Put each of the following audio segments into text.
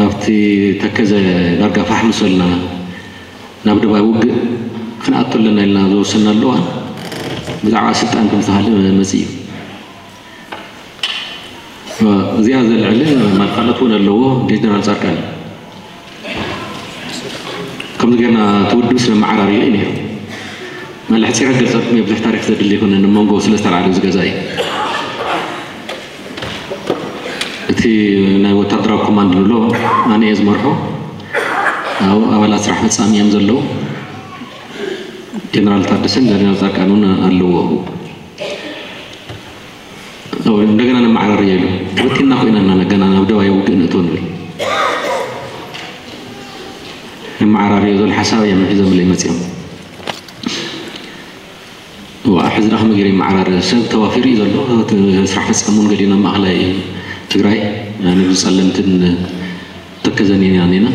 ኣብቲ ተከዘ ዳርጋ ፋሕ ምስ በልና ናብ ደባይ ውግእ ክንኣቱ ኣለና ኢልና ዝወሰናሉ እዋን ብዛዕባ ስልጣን ከም ዝተሃለ መፂእ እዩ። እዚኣ ዘልዕል ማል ካልኦት እውን ኣለዎ። ጀነራል ፃድቃን እዩ። ከምዚ ጌርና እቲ ውድብ ስለ መዓራርዮ እዩ ነይሩ። መለ ሕፂረ ገልፀልኩም እየ፣ ብዙሕ ታሪክ ዘድሊ ኣይኮነን። መንጎ ስለ ዝተላዕለ እዚ ገዛ እዩ። እቲ ናይ ወታደራዊ ኮማንድ ንብሎ ኣነ እየ ዝመርሖ። ኣብኡ ኣባላት ስራሕ ፈፃሚ እዮም ዘለዉ። ጀነራል ታደሰን ጀነራል ፃድቃን እውን ኣለዎ። እንደገና ነመዓራርዮ ኢሉ። ተበቲንና ኮይና ኢና ገና ናብ ደባይ ውግእ ንእቶ ንብል። ነመዓራርዮ ዝብል ሓሳብ እዮም ሒዞምለይ መፂኦም። እዋ፣ ሕዚ ደኣ ከመይ ገይረ ይመዓራረ? ሰብ ተዋፊሩ እዩ ዘሎ። እቲ ስራሕ ፈፃሚ እውን ገሊኡ ናብ ማእኸላይ ትግራይ፣ ንብዚ ጸለምትን ተከዘን ኢና ኔና።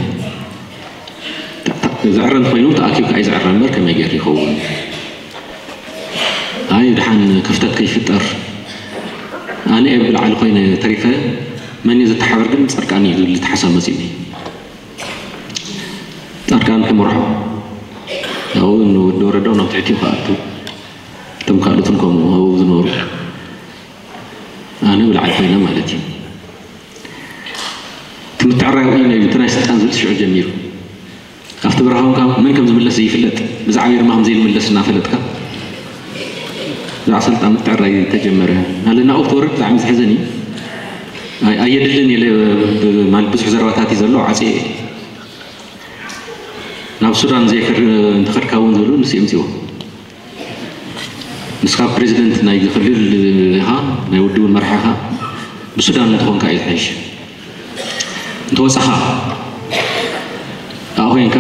ዝዕረ እንተኾይኑ ተኣኪብካ እዩ ዝዕረ እምበር ከመይ ገይሩ ይኸውን? ኣይ ድሓን ክፍተት ከይፍጠር። ኣነ እየ ብላዕሊ ኮይነ ተሪፈ፣ መን እዩ ዘተሓበር ግን ጻድቃን እዩ ዝብል ተሓሳብ መጺኡኒ። ጻድቃን ክመርሖ፣ ኣብኡ ንወዲ ወረዳው ናብ ትሕቲኡ ክኣቱ፣ እቶም ካልኦትን ከምኡ ኣብኡ ዝነበሩ፣ ኣነ ብላዕሊ ኮይነ ማለት እዩ። እቲ ምትዕርራይ ውዒሉ እዩ፣ እቲ ናይ ስልጣን ዝብል ሽዑ ጀሚሩ። ኣብቲ በረኻ እውን ካብ መን ከም ዝምለስ ዘይፍለጥ፣ ብዛዕባ ኤርማ ከም ዘይምለስ እናፈለጥካ፣ ብዛዕባ ስልጣን ምትዕርራይ ተጀመረ። ኣለ ናብኡ ክትወርድ ብጣዕሚ ዘሕዝን እዩ። ኣይ-፣ ኣየድልን ኢለ ብ-፣ ብ-፣ ማለት ብዙሕ ዘረባታት እዩ ዘሎ፣ ዓፅየ። ናብ ሱዳን ዘይከድ እንተኸድካ እውን ዝብሉ ንሱ የምፅዎ። ንስኻ ፕሬዚደንት ናይ ክልል ኢኻ፣ ናይ ውድብ መራሒ ኢኻ፣ ብሱዳን እንተኾንካ እዩ ዝሓይሽ። እንተወፃኻ፣ ኣብኣ ኮይንካ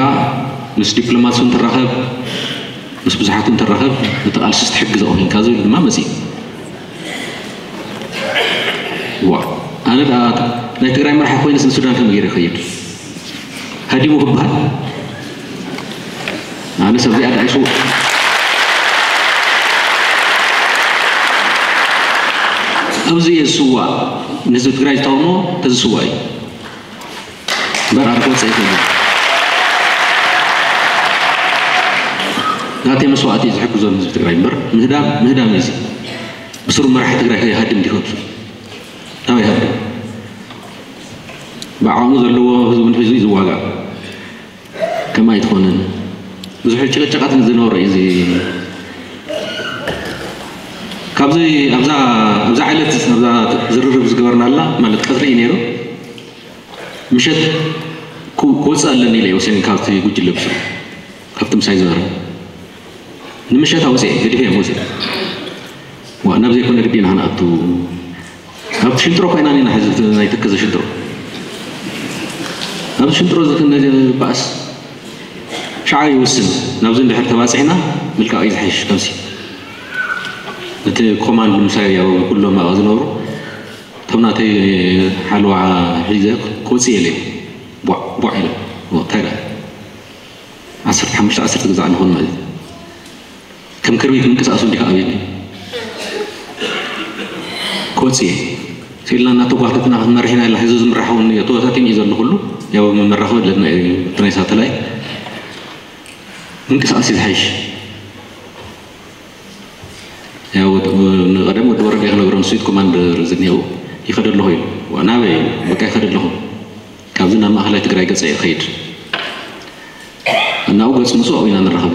ምስ ዲፕሎማት እውን ትራኸብ፣ ምስ ብዙሓት እውን ትራኸብ፣ ነቲ ቃልሲ ትሕግዝ ኣብኡ ኮይንካ ዝብል ድማ መፂኡ። ዋ፣ ኣነ ደኣ ናይ ትግራይ መራሒ ኮይነስ ንሱዳን ከመይ ገይረ ይኸይድ? ሃዲሙ ክበሃል? ኣነ ሰብ እዚኣ ደኣ ይስውእ። ኣብዚ እየ ዝስዋእ፣ ንህዝቢ ትግራይ ዝተቃውሞ ተዝስዋእ እዩ። እምበር ኣነ ክወፅእ ኣይክእልን። ናተይ መስዋእቲ እዩ ዝሕግዞ ንህዝቢ ትግራይ እምበር ምህዳም፣ ምህዳም እዩ እዚ። ብስሩ መራሒ ትግራይ ከይሃድም ድዩ ከብሱ? ናበይ ሃድም? ብዓቕሙ ዘለዎ ህዝቡን ሒዙ እዩ ዝዋጋእ። ከምኣ ኣይትኾንን። ብዙሕ ጭቕጭቓት ዝነበሮ እዩ እዚ። ካብዚ ኣብዛ፣ ኣብዛ ዕለት ኣብዛ ዝርርብ ዝገበርናላ ማለት ቀትሪ እዩ ነይሩ። ምሸት ክው-፣ ክወፅእ ኣለኒ ኢለ እየ ወሲነ ካብቲ ጉጅለ ብስሩ፣ ካብቲ ምሳይ ዝነበረ። ንምሸት ኣውፅኤ፣ ገዲፈ እዮም ወፅኤ። ዋ፣ ናብ ዘይኮነ ግዲ ኢና ክንኣቱ። ኣብቲ ሽንጥሮ ኮይና ኢና ሕዚ ናይ ተከዘ ሽንጥሮ። ኣብዚ ሽንጥሮ እዚ ክንባእስ ሻዕ ይውስን። ናብዚ እንድሕር ተባፂሕና ምልቃቕ እዩ ዝሓይሽ። ከምሲ እቲ ኮማንድ ምሳይ ያው ኩሎም ኣብኣ ዝነብሩ እቶም ናተይ ሓለዋ ሒዘ ክወፅእ እየ ኢለ ቧዕ ቧዕ ኢለ። እንታይ ደኣ? ዓሰርተ ሓሙሽተ ዓሰርተ ግዛዕ ንኾን ማለት እዩ። ከም ክርቢት ምንቅስቃሱ እንዲኻ ኣብየኒ። ክወፅእ እየ። ስኢልና እናተጓተትና ክንመርሕ ኢና ኢልና ህዝቢ ዝምራሕ እውን እዮ። ተወታቲን እዩ ዘሎ ኩሉ። ያው መመራኸቢ ኣለና እዩ። እቲ ናይ ሳተላይት ምንቅስቃስ እዩ ዝሓይሽ። ያው ወድ-፣ ንቐደም ወዲ ወረደ ክነግሮ ንስዊት ኮማንደር ዝኒሄው ይኸደ ኣለኹ እዩ። ዋ፣ ናበይ እዩ? በቃ ይኸደ ኣለኹ። ካብዚ ናብ ማእኸላይ ትግራይ ገፀ ይኸይድ። እናብኡ ገፁ ንሱ ኣብኡ ኢና ንራኸብ።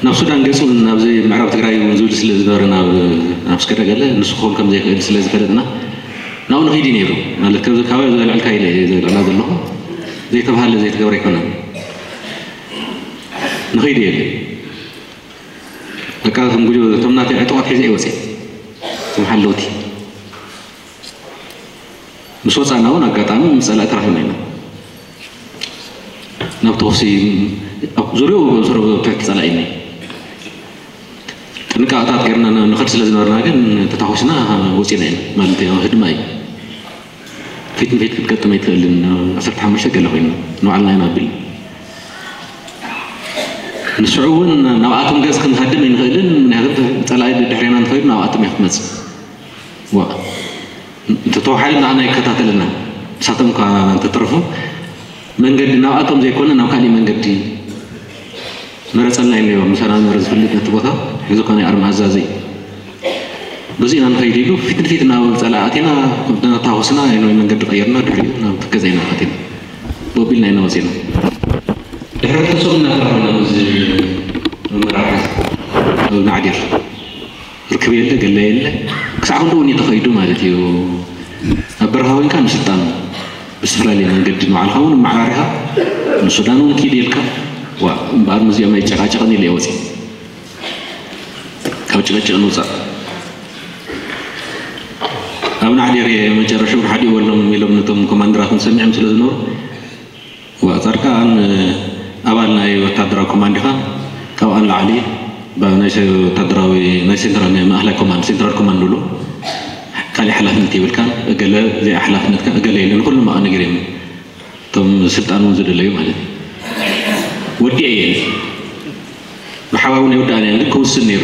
ናብ ሱዳን ገፁ ናብዚ ምዕራብ ትግራይ እውን ዝብል ስለ ዝነበረ ናብ፣ ናብ ስከደ ገለ ንሱ ክኸውን ከም ዘይክእል ስለ ዝፈለጥና ናብኡ ንኸይድ እዩ ነይሩ። ማለት ከዚ ካባይ ዘልዕልካ ኢለ እየ ዘልዕላ ዘለኹ። ዘይተባሃለ ዘይተገብረ ኣይኮነን። ንኸይድ እየ ኢለ። በቃ ከም ጉጅ-፣ እቶም ናተይ ዕጡቓት ሒዘ እየ ወፅየ። እቶም ሓለውቲ። ምስ ወፃእና እውን ኣጋጣሚ ምስ ፀላኢ ተራኺብና ኢና። ናብ ተኹሲ ኣብ ዙርያኡ ዞሮ ትሕቲ ፀላኢ ኢና። ጥንቃቐታት ጌርና ን-፣ ንኸድ ስለ ዝነበርና ግን ተታኹስና ወፂና ኢና። ማለት ያው ህድማ እዩ። ፊት ንፊት ክትገጥም ኣይትኽእልን። ዓሰርተ ሓሙሽተ ገለ ኮይና ንባዕልና ኢና ብል። ንስዑ እውን ናብኣቶም ገፅ ክንሃድም ኣይንኽእልን። ምክንያቱ ፀላኢ ድሕሬና እንተኸይዱ ናብኣቶም እያ ክትመፅእ። ዋ፣ እንተተዋሓደ ንዓና ይከታተለና። ንሳቶም እኳ እንተተረፉ መንገዲ ናብኣቶም ዘይኮነ ናብ ካሊእ መንገዲ መረፀልና ኢለዮ። ምሳና ዝነበረ ዝፈልጥ ነቲ ቦታ ሕዚ እኳ ናይ ኣርሚ ኣዛዚ እዩ። በዚ ኢና ንኸይድ ኢሉ ፊት ንፊት ናብ ጸላኢ ኣቲና፣ ተታኾስና፣ ናይ መንገዲ ቀይርና፣ ድሕሪኡ ናብ ትከዘ ኢና ኣቲና። ቦቢልና ኢና ወጺና። ድሕሪ ተሶም እናተራኸብና ምስ መራሕቲ ናዕዲር ርክብ የለ፣ ገለ የለ። ክሳዕ ክንድኡ እውን ተኸይዱ ማለት እዩ። ኣብ በረኻ ኮይንካ ንስልጣን ብዝተፈላለየ መንገዲ ንባዕልኻ እውን ኣመዓራሪኻ ንሱዳን እውን ኪድ ኢልካ፣ ዋ፣ እምበኣር ምስዚኦም ኣይጨቃጨቕን ኢለ እየ ወፂእ። ካብ ጭቅጭቅ ንውፃእ። ኣብ ናዕዴር መጨረሻ እውን ሓዲኡ በሎም ኢሎም ነቶም ኮማንደራትን ሰሚዖም ስለ ዝነበሩ፣ ዋ፣ ጻድቃን ኣባል ናይ ወታደራዊ ኮማንድ ኢኻ፣ ካብኣ ንላዕሊ ባ-፣ ናይ ሰ-፣ ወታደራዊ፣ ናይ ሴንትራል፣ ናይ ማእኸላይ ኮማንድ፣ ሴንትራል ኮማንድ ንብሎ፣ ካሊእ ሓላፍነት የብልካን፣ እገለ እዚኣ ሓላፍነትካ እገለ ኢለ ንኹሎም ኣቐ ነጊረዮም። እቶም ስልጣን እውን ዝደለዩ ማለት እዩ። ወዲኤ እየ። ብሓባር እውን የወዳእና እየን፣ ግን ክውስን ነይሩ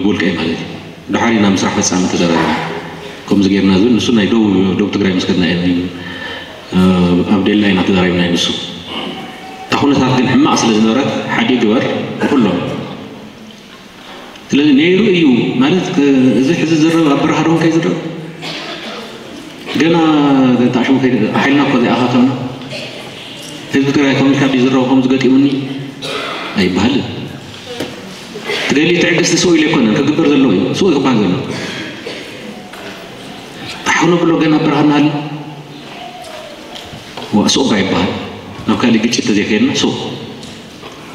ብውልቀይ ማለት እዩ። ድሓር ኢና ምስራሕ ፈጻሚ ተዘራሪብና። ከምዚ ጌርና ዝብል ንሱ ናይ ደቡብ፣ ደቡብ ትግራይ ምስ ከድና እዮም፣ ኣብ ደላ ኢና ተዘራሪብና እዩ ንሱ። እታ ኩነታት ግን ሕማቕ ስለ ዝነበረት ሓዲ ግበር ንኩሎም። ስለዚ ነይሩ እዩ ማለት፣ እዚ ሕዚ ዝረብ ኣብ በረኻ ዶ ከይዝረብ? ገና ተኣሽሙ ከይድ-፣ ሓይልና እኮ ዘይኣኻኸብና። ህዝቢ ትግራይ ከም ኢልካ ድዩ ዝረብ፣ ከምዚ ገጢሙኒ ኣይበሃልን። ትደሊ ትዕግስቲ ስኡ ኢለ ኣይኮነን፣ ክግበር ዘለዎ እዩ። ስኡ እዩ ክበሃል ዘለዎ። ኣሕ ክነብሎ ገና ኣብ በረኻ እናሃለና። ዋ፣ ስኡ እባ ይበሃል። ናብ ካሊእ ግጭት ተዘይከይድና፣ ስኡ።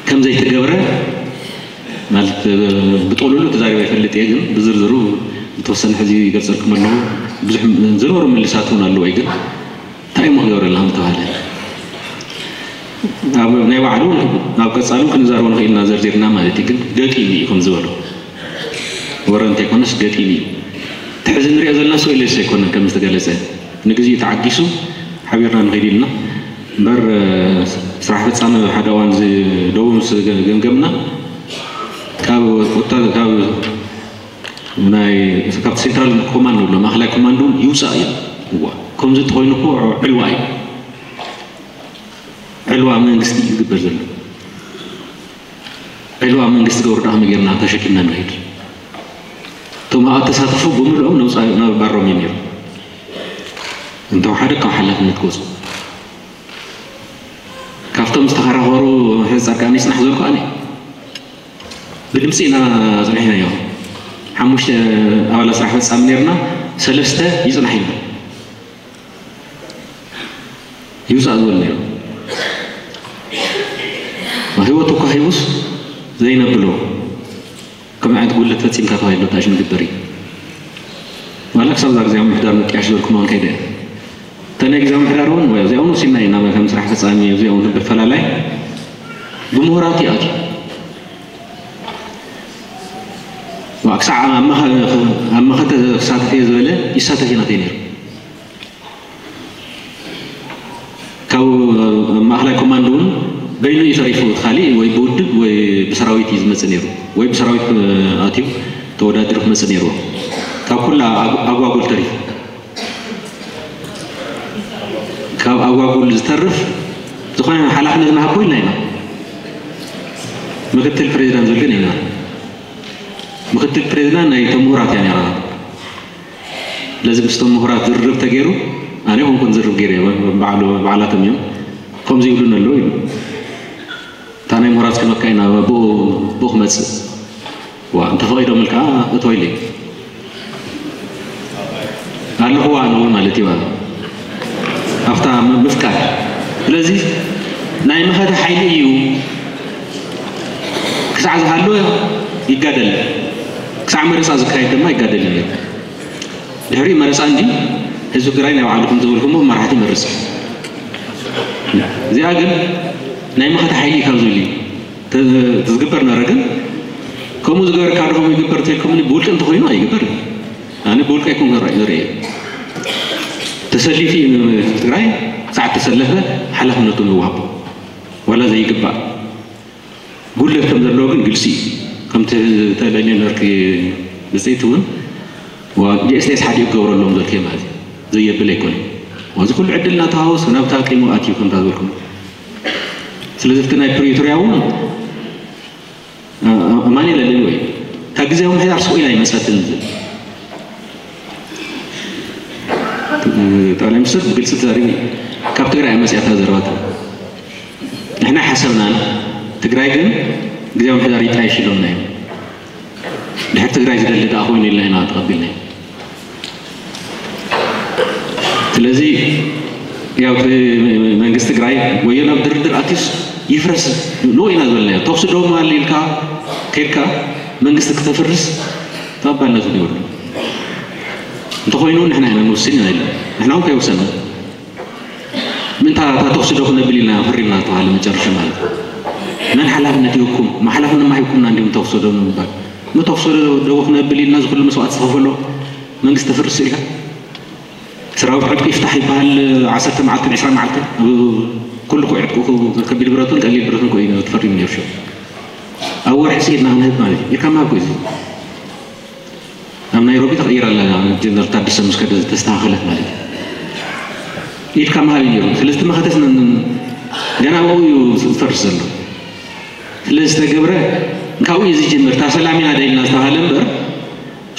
ከም ዘይተገብረ ማለት፣ ብጥቕልሉ ተዛሪበ ይፈልጥ እየ፣ ግን ብዝርዝሩ ዝተወሰነ ሕዚ ይገልጸልኩም ኣለኹ። ብዙሕ ዝነበሩ ምልሳት እውን ኣለዉ እዩ፣ ግን እንታይ እሞ ክገብረልና ከም ዝተባህለ ኣብ ናይ ባዕሉ ኣብ ቀጻሉ ክንዛረቦ ንኽእል ኢና ዘርዚርና ማለት እዩ። ግን ገጢሙ እዩ ከም ዝበሎ ወረ እንተይኮነስ ገጢሙ እዩ። እቲ ሕዚ ንሪኦ ዘለና ሰው ኢለስ ኣይኮነን ከም ዝተገለጸ፣ ንግዜኡ ተዓጊሱ ሓቢርና ንኸይድ ኢልና እምበር፣ ስራሕ ፈጻሚ ሓደ እዋን እዚ ደቡብ ምስ ገምገምና ካብ ወታ-፣ ካብ ናይ፣ ካብቲ ሴንትራል ኮማንድ ንብሎ ማእኸላይ ኮማንድ እውን ይውፃእ እዩ። እዋ፣ ከምዚ እንተኾይኑ እኮ ዕልዋ እዩ። ዕልዋ መንግስቲ እዩ ዝግበር ዘሎ። ዕልዋ መንግስቲ ገብሩ ደኣ ከመይ ጌርና ተሸኪምና ንኸይድ? እቶም ኣብኣ ተሳተፉ ብምልኦም ነውፃ-፣ ነባሮም እዩ ነይሩ። እንተወሓደ ካብ ሓላፍነት ክወፁ። ካብቶም ዝተኸራኸሩ ሕዚ ጻድቃን ይጽናሕ ዝበልኩ ኣነ። ብድምፂ ኢና ኣጽኒሕናዮ። ሓሙሽተ ኣባላት ስራሕ ፈጻሚ ነይርና፣ ሰለስተ ይጽናሕ ኢልና። ይውፃእ ዝበሉ ነይሩ። ህይወቱ እኳ ሂቡስ ዘይነብሎ ከምዚ ዓይነት ጉድለት ፈፂምካ ተባሂሉ ተኣሽሙ ዝግበር እዩ። ዋላ ክሳብ እዛ ግዜ ምምሕዳር ምጥያሽ ዝበልኩ መን ከይደ እየ። እተን ናይ ግዜ ምምሕዳር እውን ወይ እዚኣ እውን ወሲድና ኢና ከም ስራሕ ፈፃሚ እዚኣ እውን ብፈላላይ ብምሁራት እዩ ኣትዩ። ዋ፣ ክሳዕ ኣብ መኸ-፣ ኣብ መኸተ ክሳተፍ እየ ዝበለ ይሳተፍ እዩ ናተይ ነይሩ። ካብ ማእኸላይ ኮማንድ እውን በይኑ እዩ ተሪፉ። እቲ ካሊእ ወይ ብውድብ ወይ ብሰራዊት እዩ ዝመፅእ ነይሩ፣ ወይ ብሰራዊት ኣትዩ ተወዳዲሩ ክመፅእ ነይርዎ። ካብ ኩላ ኣጉ-፣ ኣጓጉል ተሪፉ። ካብ ኣጓጉል ዝተርፍ ዝኾነ ሓላፍነት ንሃቦ ኢልና ኢና። ምክትል ፕሬዚዳንት ዝብል ግን የለን። ምክትል ፕሬዚዳንት ናይ እቶም ምሁራት እያ ነይራ። ስለዚ ምስቶም ምሁራት ዝርርብ ተገይሩ፣ ኣነ ኮንኩን ዝርርብ ገይረ፣ ባዕሉ፣ ባዕላቶም እዮም። ከምዚ ይብሉን ኣለዉ ኢሉ። እታ ናይ ምሁራት ክህበካ ኢና፣ ብኡ፣ ብኡ ክመጽእ። ዋ፣ እንተፈቒዶምልካ እቶ ኢለይ። ኣለኹዋ ኣነ እውን ማለት እዩ። ኣብታ ም-፣ ምፍቃድ። ስለዚ ናይ መኸተ ሓይሊ እዩ። ክሳዕ ዝሃለወ ይጋደል። ክሳዕ መረጻ ዝካየድ ድማ ይጋደል እዩ ነይሩ። ድሕሪ መረጻ እንዲ ህዝቢ ትግራይ ናይ ባዕሉ ከም ዝበልኩሞ መራሕቲ ይመርጽ። እዚኣ ግን ናይ መኸተ ሓይሊ ካብ ዝብል እዩ። ተ-፣ ዝግበር ነበረ። ግን ከምኡ ዝገበርካ ዶ ከምኡ ይግበር ተልኩምኒ፣ ብውልቂ እንተኾይኑ ኣይግበርን። ኣነ ብውልቂ ኣይኮንኩን ራእይ ዝርእየ። ተሰሊፉ እዩ ንትግራይ፣ ክሳዕ ተሰለፈ ሓላፍነቱ ንወሃቦ። ዋላ ዘይግባእ ጉድለት ከም ዘለዎ ግን ግልፂ እዩ። ከምቲ ተለልዮ ነበርኪ ብፅኢት እውን፣ ዋ፣ ጂ ኤስ ቲ ኤስ ሓዲኡ ክገብረሎም ዘልክዮ ማለት እዩ። ዘየብል ኣይኮነን። እዚ ኩሉ ዕድል እናተሃወሱ ናብታ ቂሙ ኣትዩ ከምታ ዝበልኩም። ስለዚ እቲ ናይ ፕሪቶርያ እውን ኣማኒ ለለዩ ወይ ካብ ግዜያዊ ምሕዳር ስቕ ኢላ ኣይመፀትን ዝብል ጠቅላይ ሚኒስትር ብግልፂ ተዛሪቡ እዩ። ካብ ትግራይ መፅያታ ዘረባታ ንሕና ሓሰብናን ትግራይ ግን ግዜያዊ ምሕዳር ይጣየሽ ኢሎምና እዮም። ድሕር ትግራይ ዝደሊ ደኣ ኮይኑ ኢልና ኢና ተቐቢልና። ስለዚ ያው መንግስቲ ትግራይ ወዮ ናብ ድርድር ኣትዩስ ይፍረስ ንኡ ኢና ዝበልናዮ። ተኩሲ ደው ኣሊልካ ከድካ መንግስቲ ክተፍርስ ተቐባልነት እውን ይብሉ። እንተኾይኑ ንሕና ኢና ንውስን ኢና ኢልና ንሕና እውን ከይወሰና ምንታ እታ ተኩሲ ዶ ክነብል ኢልና ፈሪምና ዝተባሃለ መጨረሻ ማለት መን ሓላፍነት ይህብኩም? ሓላፍነት ማ ሂብኩምና እንዲሁም ተኩሲ ዶ ንምባል ም ተኩሲ ዶ ክነብል ኢልና ዝኩሉ መስዋዕት ዝኸፈሎ መንግስቲ ተፍርስ ኢልካ ሰራዊት ዕጥቂ ይፍታሕ ይበሃል። ዓሰርተ መዓልትን ዕስራ መዓልትን ኩሉ ኮ ዕጥቁ ከቢድ ብረቱን ቀሊል ብረቱን ኮ እዩ ተፈሪሙ ነይሩ። ኣብ ወርሒ ስኢድና ክንህብ ማለት እዩ። ኢልካ ምሃብ ኮ እዩ። ኣብ ናይሮቢ ተቐይራ ኣላ ጀነራል ታደሰ ምስ ከደ ዝተስተኻኸለት ማለት እዩ። ኢድካ ምሃብ እዩ ነይሩ። ስለዚ እቲ መኸተስ ገና ኣብኡ እዩ ዝፈርስ ዘሎ። ስለዚ ዝተገብረ ካብኡ እዩ ዝጅምር። እታ ሰላም ኢና ደልና ዝተባሃለ እምበር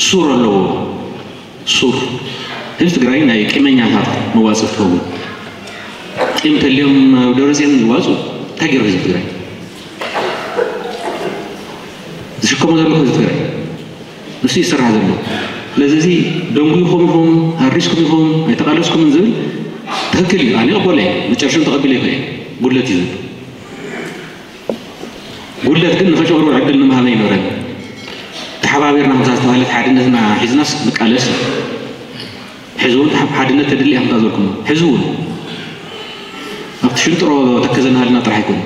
ሱር ኣለዎ። ሱር ህዝቢ ትግራይ ናይ ቂመኛታት መዋፅእ ትኸውን። ቂም ተልዮም ኣብ ደብረፅዮን ይዋፁ እንታይ ገይሩ ህዝቢ ትግራይ ዝሽከሞ ዘሎ ህዝቢ ትግራይ ንሱ ይስራሕ ዘሎ። ስለዚ እዚ ደንጉይኹም ኢኹም ሃሪስኩም ኢኹም ኣይተቃለስኩምን ዝብል ትክክል እዩ። ኣነ ይቕበሎ እየ መጨረሽም ተቐቢለ ይኽእል ጉድለት እዩ ዝብል ጉድለት ግን ንኸጨቕሩ ዕድል ንምሃበ ይኖረን ተሓባቢርና ከምዛ ዝተባህለት ሓድነትና ሒዝናስ ንቃለስ እዩ። ሕዚ እውን ሓድነት ተድሊ እያ ከምታ ዝበልኩም ሕዚ እውን ኣብቲ ሽንጥሮ ተከዘናሃልና ጥራሕ ኣይኮነ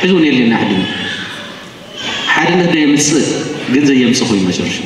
ሕዚ እውን የድልየና ሓድነት ሓድነት ዶ የምፅእ ግን ዘየምፅእ ኮይኑ መጨረሻ